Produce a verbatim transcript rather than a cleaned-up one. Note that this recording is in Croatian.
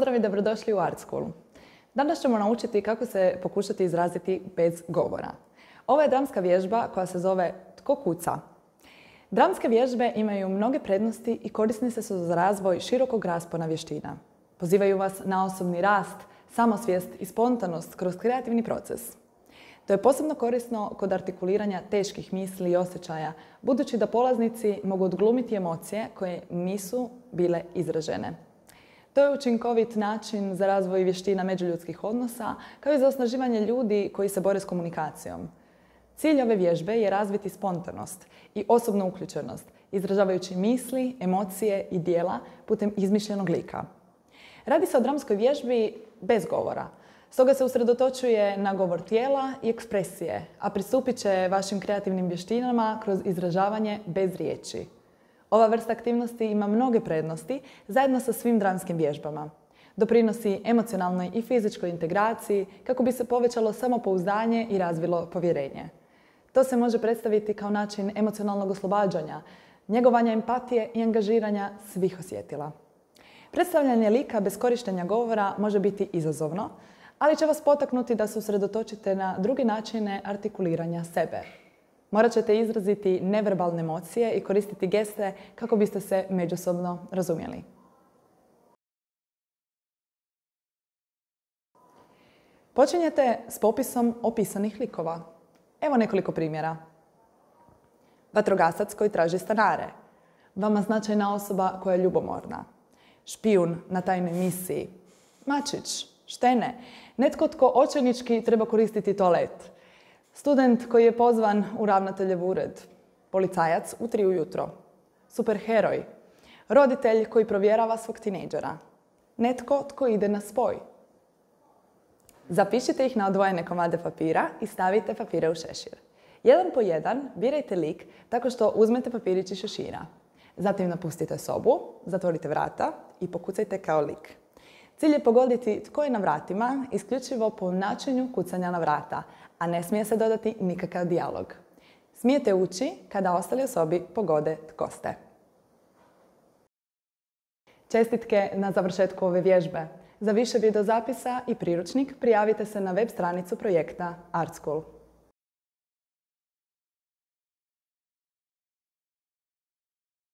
Pozdrav i dobrodošli u Art School. Danas ćemo naučiti kako se pokušati izraziti bez govora. Ovo je dramska vježba koja se zove Tko kuca. Dramske vježbe imaju mnoge prednosti i korisne su za razvoj širokog raspona vještina. Pozivaju vas na osobni rast, samosvijest i spontanost kroz kreativni proces. To je posebno korisno kod artikuliranja teških misli i osjećaja, budući da polaznici mogu odglumiti emocije koje nisu bile izražene. To je učinkovit način za razvoj vještina međuljudskih odnosa, kao i za osnaživanje ljudi koji se bore s komunikacijom. Cilj ove vježbe je razviti spontanost i osobnu uključenost, izražavajući misli, emocije i djela putem izmišljenog lika. Radi se o dramskoj vježbi bez govora. Stoga se usredotočuje na govor tijela i ekspresije, a pristupit će vašim kreativnim vještinama kroz izražavanje bez riječi. Ova vrsta aktivnosti ima mnoge prednosti zajedno sa svim dramskim vježbama. Doprinosi emocionalnoj i fizičkoj integraciji kako bi se povećalo samopouzdanje i razvilo povjerenje. To se može predstaviti kao način emocionalnog oslobađanja, njegovanja empatije i angažiranja svih osjetila. Predstavljanje lika bez korištenja govora može biti izazovno, ali će vas potaknuti da se usredotočite na druge načine artikuliranja sebe. Morat ćete izraziti neverbalne emocije i koristiti geste kako biste se međusobno razumjeli. Počinjete s popisom opisanih likova. Evo nekoliko primjera. Vatrogasac koji traži stanare. Vama značajna osoba koja je ljubomorna. Špijun na tajnoj misiji. Mačić, štene, netko tko očajnički treba koristiti toalet. Student koji je pozvan u ravnateljev ured. Policajac u tri ujutro. Superheroj. Roditelj koji provjerava svog tinejdžera. Netko tko ide na spoj. Zapišite ih na odvojene komade papira i stavite papire u šešir. Jedan po jedan birajte lik tako što uzmete papirić iz šešira. Zatim napustite sobu, zatvorite vrata i pokucajte kao lik. Cilj je pogoditi tko je na vratima isključivo po načinu kucanja na vrata, a ne smije se dodati nikakav dijalog. Smijete ući kada ostali u sobi pogode tko ste. Čestitke na završetku ove vježbe. Za više videozapisa i priručnik prijavite se na web stranicu projekta Art School.